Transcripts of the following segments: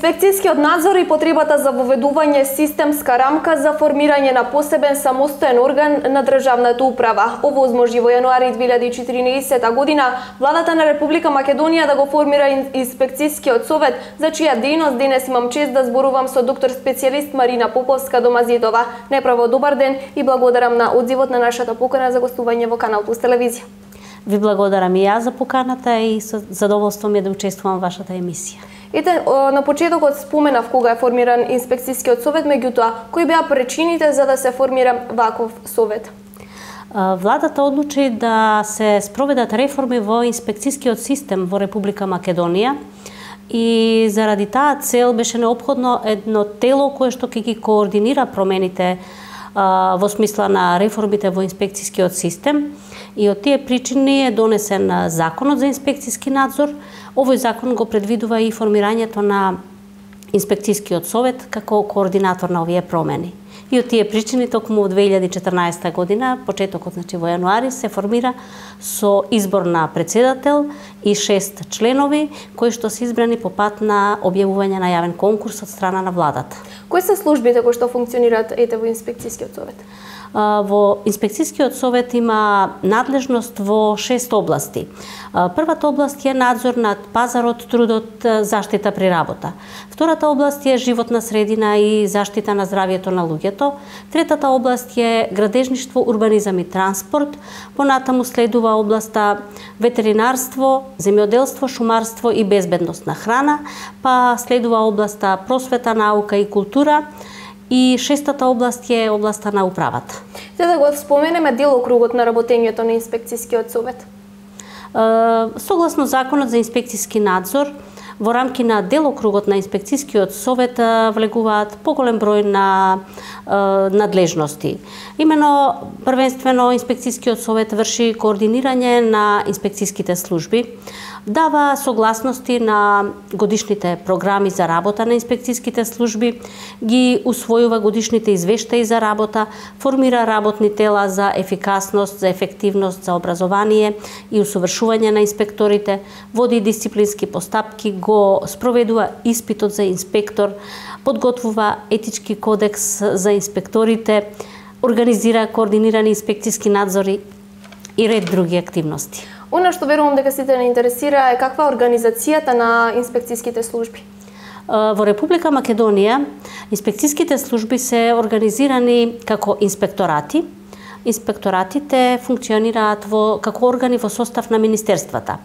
Инспекцијскиот надзор и потребата за воведување системска рамка за формирање на посебен самостоен орган на државната управа. Овозможи во јануари 2014 година владата на Република Македонија да го формира инспекцијскиот совет, за чија дејност денес имам чест да зборувам со доктор специјалист Марина Поповска-Домазидова. Неправо добар ден и благодарам на одзивот на нашата покана за гостување во Канал Плюс телевизија. Ви благодарам и јас за поканата и со задоволство ми е да учествувам во вашата емисија. Ете, на почетокот споменав кога е формиран инспекцијскиот совет, меѓутоа, кои беа причините за да се формира ваков совет? Владата одлучи да се спроведат реформи во инспекцијскиот систем во Република Македонија и заради таа цел беше неопходно едно тело кое што ќе ги координира промените во смисла на реформите во инспекцијскиот систем, и од тие причини е донесен Законот за инспекцијски надзор. Овој закон го предвидува и формирањето на инспекцијскиот совет како координатор на овие промени. И од тие причини токму во 2014 година, почетокот во јануари, се формира со избор на председател и 6 членови кои што се избрани по пат на објавување на јавен конкурс од страна на владата. Кои се службите кои што функционираат во инспекцијскиот совет? Во инспекцијскиот совет има надлежност во 6 области. Првата област е надзор над пазарот, трудот, заштита при работа. Втората област е животна средина и заштита на здравјето на луѓето. Третата област е градежништво, урбанизам и транспорт. Понатаму следува областа ветеринарство, земјоделство, шумарство и безбедност на храна, па следува областа просвета, наука и култура. И шестата област е областа на управата. За да го споменеме делокругот на работењето на инспекцијскиот совет. Согласно Законот за инспекцијски надзор, во рамки на делокругот на инспекцијскиот совет влегуваат поголем број на надлежности. Имено, првенствено, инспекцијскиот совет врши координирање на инспекцијските служби, дава согласности на годишните програми за работа на инспекцијските служби, ги усвојува годишните извештаи за работа, формира работни тела за ефикасност, за ефективност, за образование и усовршување на инспекторите, води дисциплински постапки, го спроведува испитот за инспектор, подготвува етички кодекс за инспекторите, организира координирани инспекцијски надзори и ред други активности. Оно што верувам дека сите не интересира е каква е организацијата на инспекцијските служби. Во Република Македонија инспекцијските служби се организирани како инспекторати. Инспекторатите функционираат како органи во состав на министерствата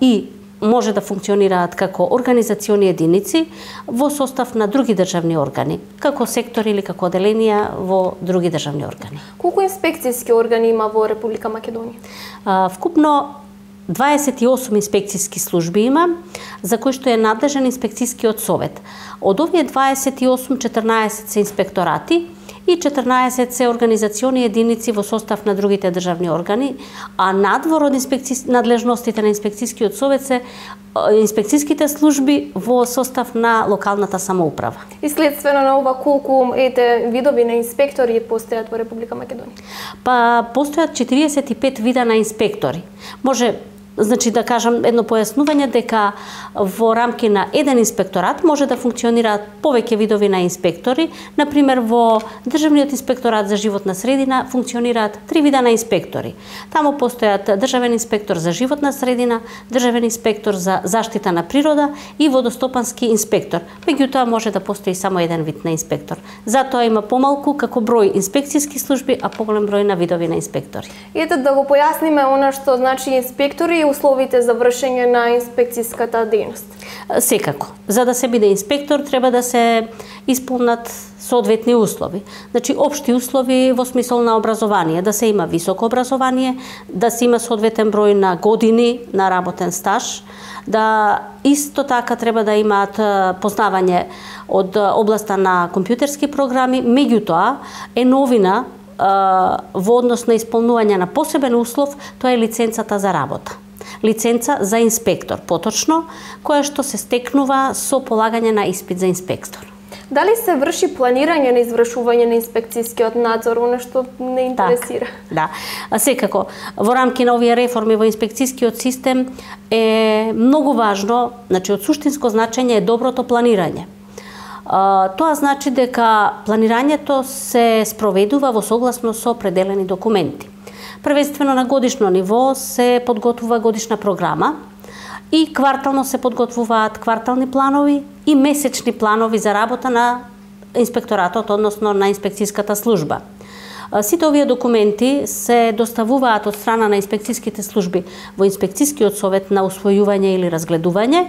и може да функционираат како организациони единици во состав на други државни органи, како сектори или како оделенија во други државни органи. Колку инспекцијски органи има во Република Македонија? Вкупно 28 инспекцијски служби има, за кои што е надлежен инспекцијскиот совет. Од овие 28, 14 се инспекторати и 14 се организациони единици во состав на другите државни органи, а надвор од надлежностите на инспекцијскиот совет се инспекцијските служби во состав на локалната самоуправа. И следствено на ова, колку видови на инспектори постојат во Република Македонија? Па постојат 45 вида на инспектори. Може да кажам едно појаснување дека во рамки на еден инспекторат може да функционираат повеќе видови на инспектори. Например, во Државниот инспекторат за животна средина функционираат 3 вида на инспектори. Таму постојат државен инспектор за животна средина, државен инспектор за заштита на природа и водостопански инспектор. Меѓутоа може да постои само еден вид на инспектор. Затоа има помалку како број инспекцијски служби, а поголем број на видови на инспектори. Ете да го појасниме она што значи инспектори и условите за вршење на инспекцијската дејност. Секако. За да се биде инспектор треба да се исполнат соодветни услови. Значи, општи услови во смисол на образование, да се има високо образование, да се има соодветен број на години на работен стаж, да исто така треба да имаат познавање од областа на компјутерски програми, меѓутоа е новина во однос на исполнување на посебен услов, тоа е лиценцата за работа. Лиценца за инспектор, поточно, која што се стекнува со полагање на испит за инспектор. Дали се врши планирање на извршување на инспекцијскиот надзор, она што не интересира? Да, секако. Во рамки на овие реформи во инспекцијскиот систем е многу важно, значи од суштинско значење е доброто планирање. Тоа значи дека планирањето се спроведува во согласност со определени документи. Првенствено на годишно ниво се подготвува годишна програма и квартално се подготвуваат квартални планови и месечни планови за работа на инспекторатот, односно на инспекцијската служба. Сите овие документи се доставуваат од страна на инспекцијските служби во инспекцијскиот совет на усвојување или разгледување.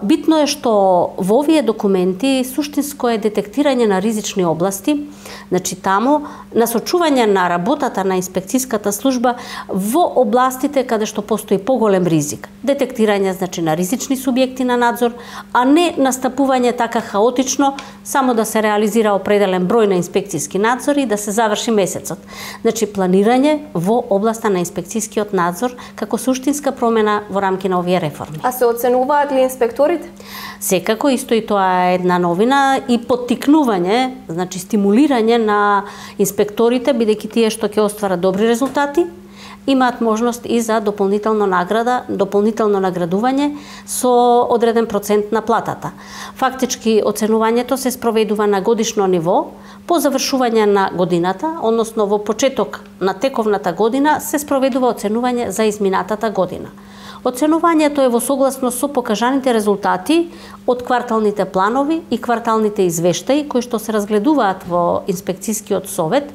Битно е што во овие документи суштинско е детектирање на ризични области, значи таму насочување на работата на инспекцијската служба во областите каде што постои поголем ризик. Детектирање значи на ризични субјекти на надзор, а не настапување така хаотично само да се реализира определен број на инспекцијски надзори и да се заврши месецот. Значи планирање во областа на инспекцијскиот надзор како суштинска промена во рамки на овие реформи. А се оценуваат ли инспекторите? Секако, исто и тоа е една новина и поттикнување, значи стимулирање на инспекторите, бидејќи тие што ќе остварат добри резултати, имаат можност и за дополнително награда, дополнително наградување со одреден процент на платата. Фактички оценувањето се спроведува на годишно ниво, по завршување на годината, односно во почеток на тековната година се спроведува оценување за изминатата година. Оценувањето е во согласност со покажаните резултати од кварталните планови и кварталните извештаи кои што се разгледуваат во инспекцијскиот совет.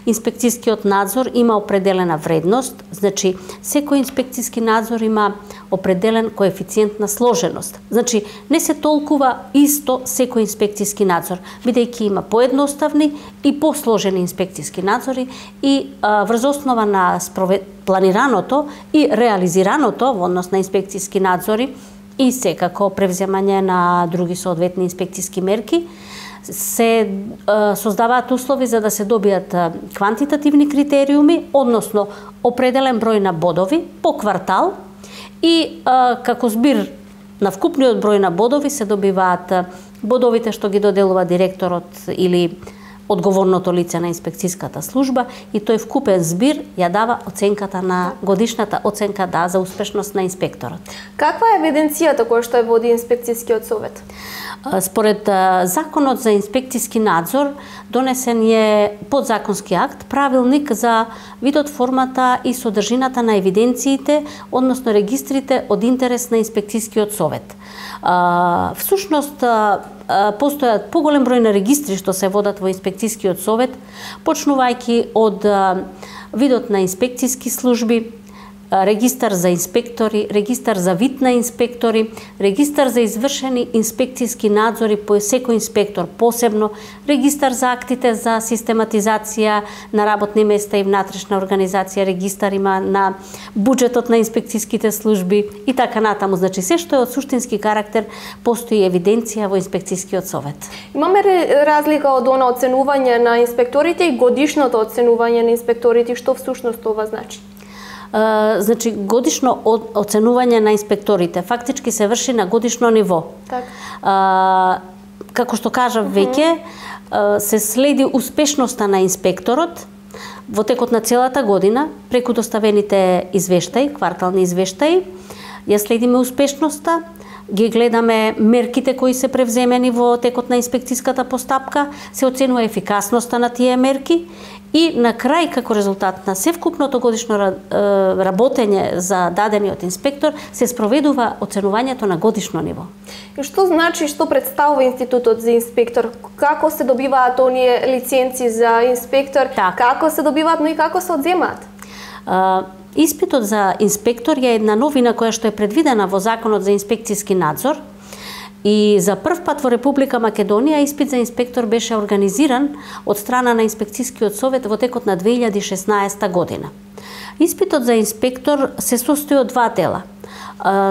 Инспекцијскиот надзор има определена вредност, значи секој инспекцијски надзор има определен коефициент на сложеност. Значи не се толкува исто секој инспекцијски надзор, бидејќи има поедноставни и посложени инспекцијски надзори и врз основа на планираното и реализираното во однос на инспекцијски надзори и секако превземање на други соодветни инспекцијски мерки, се создаваат услови за да се добијат квантитативни критериуми, односно определен број на бодови по квартал и како збир на вкупниот број на бодови се добиваат бодовите што ги доделува директорот или одговорното лице на инспекцијската служба и тој вкупен збир ја дава оценката на годишната оценка за успешност на инспекторот. Каква е евиденцијата која што ја води инспекцијскиот совет? Според Законот за инспекцијски надзор донесен е подзаконски акт, правилник за видот, формата и содржината на евиденциите, односно регистрите од интерес на инспекцијскиот совет. Всушност постојат поголем број на регистри што се водат во инспекцијскиот совет, почнувајќи од видот на инспекцијски служби, регистар за инспектори, регистар за вид на инспектори, регистар за извршени инспекцијски надзори по секој инспектор посебно, регистар за актите за систематизација на работни места и внатрешна организација, регистар има на буџетот на инспекцијските служби и така натаму. Значи се што е од суштински карактер постои евиденција во инспекцијскиот совет. Имаме разлика од она оценување на инспекторите и годишното оценување на инспекторите, што всушност ова значи? Значи годишно оценување на инспекторите фактички се врши на годишно ниво. Како што кажав веќе, се следи успешноста на инспекторот во текот на целата година преку доставените извештаи, квартални извештаи. Ја следиме успешноста, ги гледаме мерките кои се превземени во текот на инспекцијската постапка, се оценува ефикасноста на тие мерки и на крај како резултат на севкупното годишно работење за дадениот инспектор се спроведува оценувањето на годишно ниво. И што значи, што представува институтот за инспектор? Како се добиваат оние лиценци за инспектор? Како се добиваат, но и како се одземаат? Испитот за инспектор е една новина која што е предвидена во Законот за инспекцијски надзор и за прв пат во Република Македонија испит за инспектор беше организиран од страна на инспекцијскиот совет во текот на 2016 година. Испитот за инспектор се состои од два дела.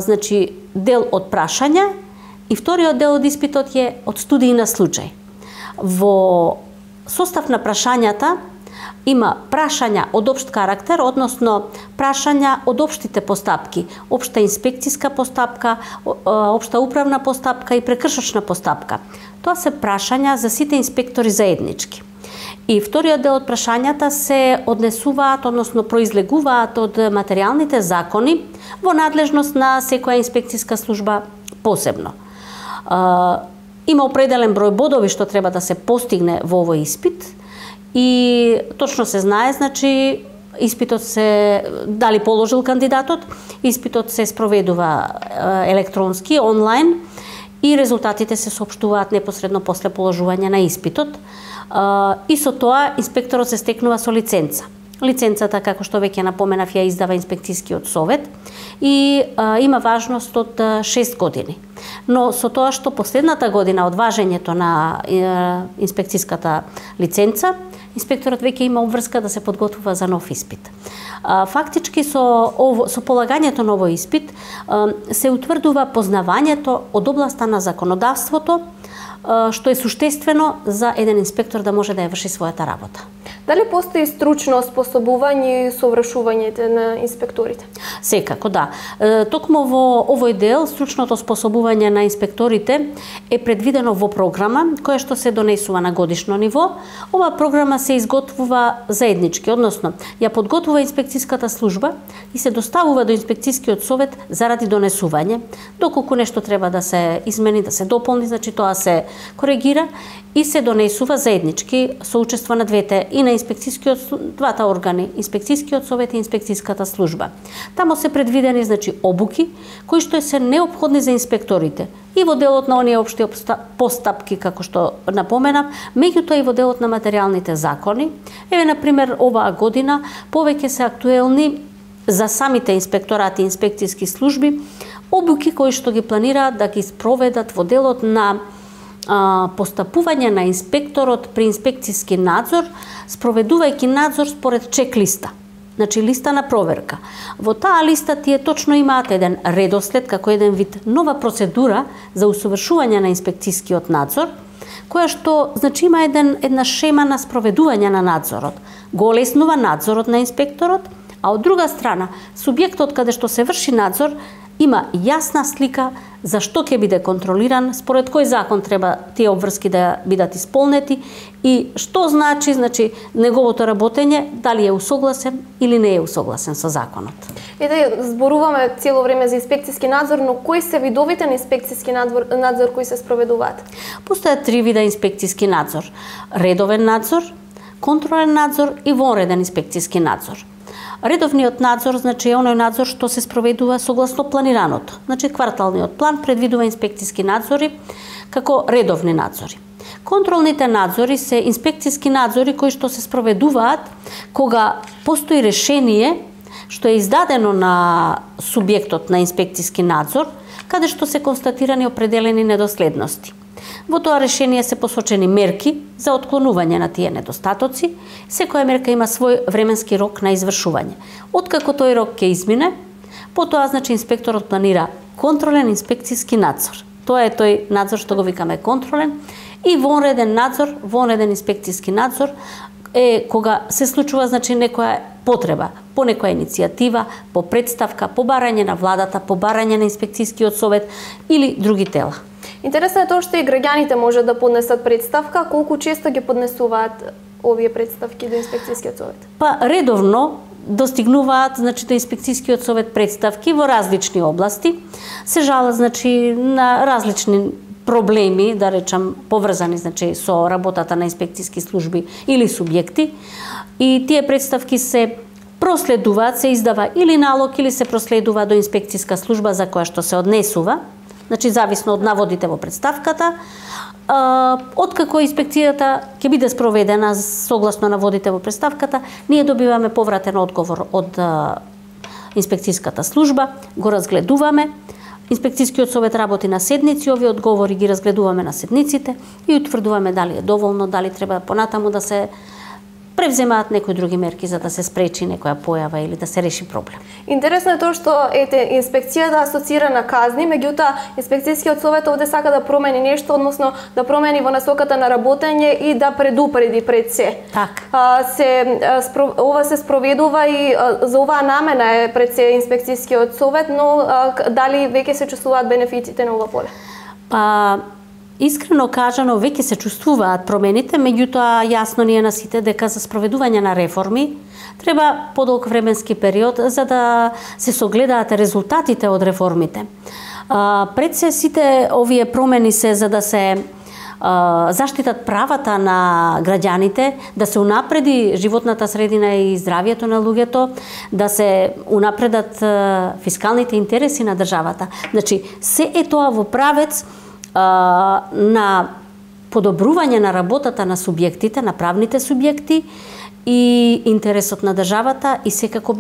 Значи дел од прашања и вториот дел од испитот е од студии на случај. Во состав на прашањата има прашања од општ карактер, односно прашања од општите постапки, општа инспекцијска постапка, општа управна постапка и прекршочна постапка. Тоа се прашања за сите инспектори заеднички. И вториот дел од прашањата се однесуваат, односно произлегуваат од материјалните закони во надлежност на секоја инспекцијска служба посебно. Има определен број бодови што треба да се постигне во овој испит и точно се знае, значи испитот се дали положил кандидатот, испитот се спроведува електронски, онлайн и резултатите се соопштуваат непосредно после положување на испитот. И со тоа инспекторот се стекнува со лиценца. Лиценцата, како што веќе напоменав, ја издава инспекцијскиот совет и има важност од 6 години. Но со тоа што последната година од важењето на инспекцијската лиценца, инспекторот веќе има обврска да се подготвува за нов испит. Фактички со полагањето на овој испит се утврдува познавањето од областа на законодавството, што е суштествено за еден инспектор да може да ја врши својата работа. Дали постои стручно оспособување и совршувањето на инспекторите? Секако, да. Токму во овој дел, стручното оспособување на инспекторите е предвидено во програма која што се донесува на годишно ниво. Ова програма се изготвува заеднички, односно ја подготвува инспекцијската служба и се доставува до инспекцијскиот совет заради донесување. Доколку нешто треба да се измени, да се дополни, значи тоа се коригира и се донесува заеднички со учество на двете и на двата органи, инспекцијскиот совет и инспекцијската служба. Тамо се предвидени, значи, обуки кои што се неопходни за инспекторите и во делот на оние општи постапки, како што напоменав, меѓутоа и во делот на материјалните закони. Еве, например, оваа година повеќе се актуелни за самите инспекторати и инспекцијски служби обуки кои што ги планираат да ги спроведат во делот на постапување на инспекторот при инспекцијски надзор, спроведувајќи надзор според чек-листа, значи листа на проверка. Во таа листа тие точно имаат еден редослед, како еден вид нова процедура за усовршување на инспекцијскиот надзор, која што, значи, има една шема на спроведување на надзорот. Го олеснува надзорот на инспекторот, а од друга страна, субјектот каде што се врши надзор има јасна слика за што ќе биде контролиран, според кој закон треба тие обврски да бидат исполнети и што значи неговото работење, дали е усогласен или не е усогласен со законот. Да зборуваме цело време за инспекцијски надзор, но кои се видовите на инспекцијски надзор кои се спроведуваат? Постојат 3 вида инспекцијски надзор: редовен надзор, контролен надзор и вонреден инспекцијски надзор. Редовниот надзор, значи, е оној надзор што се спроведува согласно планираното. Значи, кварталниот план предвидува инспекцијски надзори како редовни надзори. Контролните надзори се инспекцијски надзори кои што се спроведуваат кога постои решение што е издадено на субјектот на инспекцијски надзор, каде што се констатирани определени недоследности. Во тоа решение се посочени мерки за отклонување на тие недостатоци. Секоја мерка има свој временски рок на извршување. Откако тој рок ќе измине, потоа, значи, инспекторот планира контролен инспекцијски надзор. Тоа е тој надзор што го викаме контролен. И вонреден надзор, вонреден инспекцијски надзор е кога се случува, значи, некоја потреба, по некоја иницијатива, по представка, по барање на владата, по барање на инспекцијскиот совет или други тела. Интересно е тоа што и граѓаните може да поднесат представка, колку често ги поднесуваат овие представки до инспекцијскиот совет? Па редовно достигнуваат, значи, до инспекцијскиот совет представки во различни области. Се жалат, значи, на различни проблеми, да речам, поврзани, значи, со работата на инспекцијски служби или субјекти. И тие представки се проследуваат, се издава или налог или се проследува до инспекцијска служба за која што се однесува. Значи, зависно од наводите во представката. Откако инспекцијата ќе биде спроведена согласно наводите во представката, ние добиваме повратен одговор од инспекцијската служба, го разгледуваме. Инспекцијскиот совет работи на седници, овие одговори ги разгледуваме на седниците и утврдуваме дали е доволно, дали треба понатаму да се превземаат некои други мерки за да се спречи некоја појава или да се реши проблем. Интересно е тоа што инспекцијата асоцира на казни, меѓутоа инспекцијскиот совет овде сака да промени нешто, односно да промени во насоката на работење и да предупреди пред се. Така. Ова се спроведува и за оваа намена е пред се инспекцијскиот совет, но дали веќе се чувствуваат бенефитите на ова поле? Искрено кажано, веќе се чувствуваат промените, меѓутоа јасно ни е на сите дека за спроведување на реформи треба подолг временски период за да се согледаат резултатите од реформите. Пред се сите овие промени се за да се заштитат правата на граѓаните, да се унапреди животната средина и здравието на луѓето, да се унапредат фискалните интереси на државата. Значи, се е тоа во правец на подобрување на работата на субјектите, на правните субјекти и интересот на државата и секако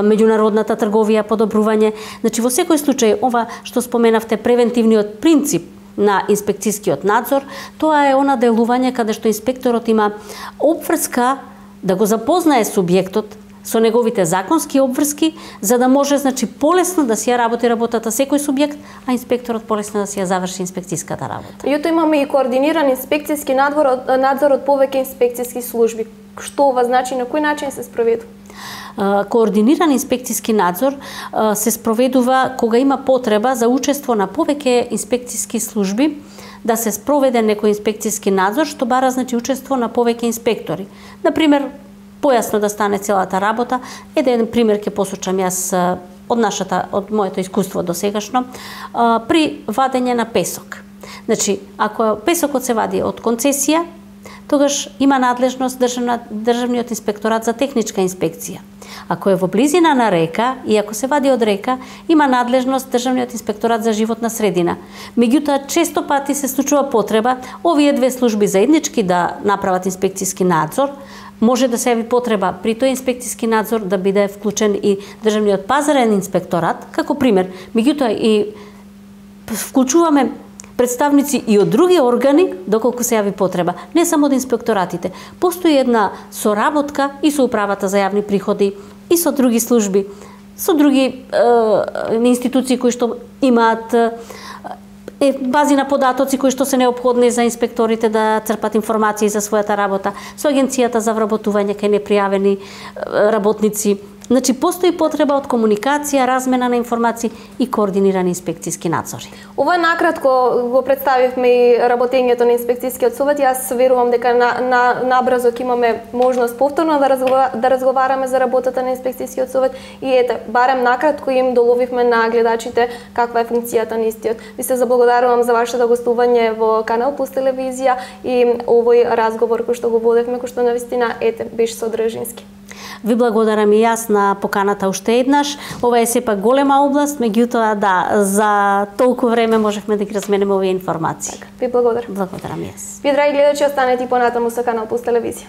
меѓународната трговија подобрување. Значи во секој случај ова што споменавте превентивниот принцип на инспекцијскиот надзор, тоа е она делување каде што инспекторот има обврска да го запознае субјектот со неговите законски обврски, за да може, значи, полесно да си ја работи работата секој субјект, а инспекторот полесно да си ја заврши инспекцијската работа. Јуто имаме и координиран инспекцијски надзор од повеќе инспекцијски служби. Што ова значи, на кој начин се спроведува? Координиран инспекцијски надзор се спроведува кога има потреба за учество на повеќе инспекцијски служби, да се спроведе некој инспекцијски надзор, што бара, значи, учество на повеќе инспектори. Например, појасно да стане целата работа, еден пример ќе посочам јас од моето искуство досегашно, при вадење на песок. Значи, ако песокот се вади од концесија, тогаш има надлежност државниот инспекторат за техничка инспекција. Ако е во близина на река и ако се вади од река, има надлежност државниот инспекторат за животна средина. Меѓутоа, често пати се случува потреба овие две служби заеднички да направат инспекцијски надзор. Може да се јави потреба при тој инспекцијски надзор да биде вклучен и државниот пазарен инспекторат, како пример. Меѓутоа и вклучуваме представници и од други органи доколку се јави потреба, не само од инспекторатите. Постои една соработка и со управата за јавни приходи и со други служби, со други институции кои што имаат бази на податоци кои што се неопходни за инспекторите да црпат информации за својата работа, со агенцијата за вработување кај непријавени работници. Значи, постои потреба од комуникација, размена на информации и координирани инспекцијски надзори. Ова накратко го представивме и работењето на инспекцијскиот совет. Јас верувам дека набрзо ќе имаме можност повторно да разговараме за работата на инспекцијскиот совет и барем накратко им доловивме на гледачите каква е функцијата на истиот. Ви се заблагодарувам за вашето гостување во Канал Плюс телевизија и овој разговор кој што го водевме, кој што навистина беше содржински. Ви благодарам и јас на поканата уште еднаш. Ова е сепак голема област, меѓутоа да, за толку време можевме да ги разменеме овие информации. Ви благодарам. Благодарам и јас. Ви, драги гледачи, останете и понатаму со Канал Плюс телевизија.